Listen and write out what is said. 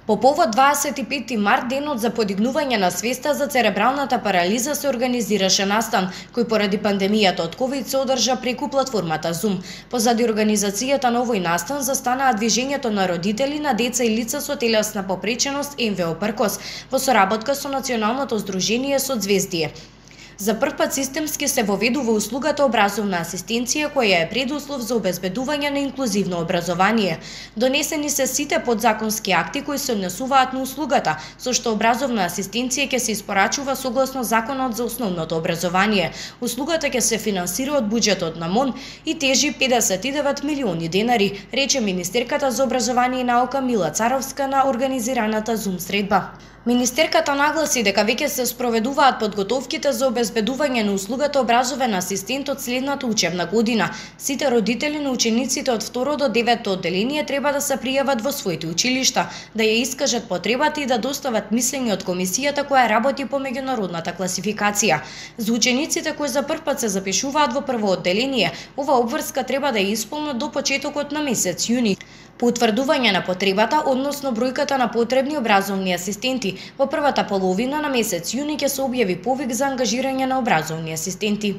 По повод 25 март, денот за подигнување на свеста за церебралната парализа, се организираше настан, кој поради пандемијата од ковид се одржа преку платформата Zoom. Позади организацијата на овој настан застанаа движењето на родители на деца и лица со телесна попреченост МВО Пркос во соработка со Националното здружение Созвездие. За прв пат системски се воведува услугата образовна асистенција, која е предуслов за обезбедување на инклузивно образование. Донесени се сите подзаконски акти кои се однесуваат на услугата, со што образовна асистенција ќе се испорачува согласно Законот за основното образование. Услугата ќе се финансира од буџетот на МОН и тежи 59 милиони денари, рече министерката за образование и наука Мила Царовска на организираната Zoom средба. Министерката нагласи дека веќе се спроведуваат подготовките за обезбедување на услугата образовен асистент од следната учебна година. Сите родители на учениците од 2 до 9 одделение треба да се пријават во своите училишта, да ја искажат потребата и да достават мислење од комисијата која работи по меѓународната класификација. За учениците кои за прв пат се запишуваат во прво одделение, ова обврска треба да ја исполнат до почетокот на месец јуни. По утврдување на потребата, односно бројката на потребни образовни асистенти, во првата половина на месец јуни ќе се објави повик за ангажирање на образовни асистенти.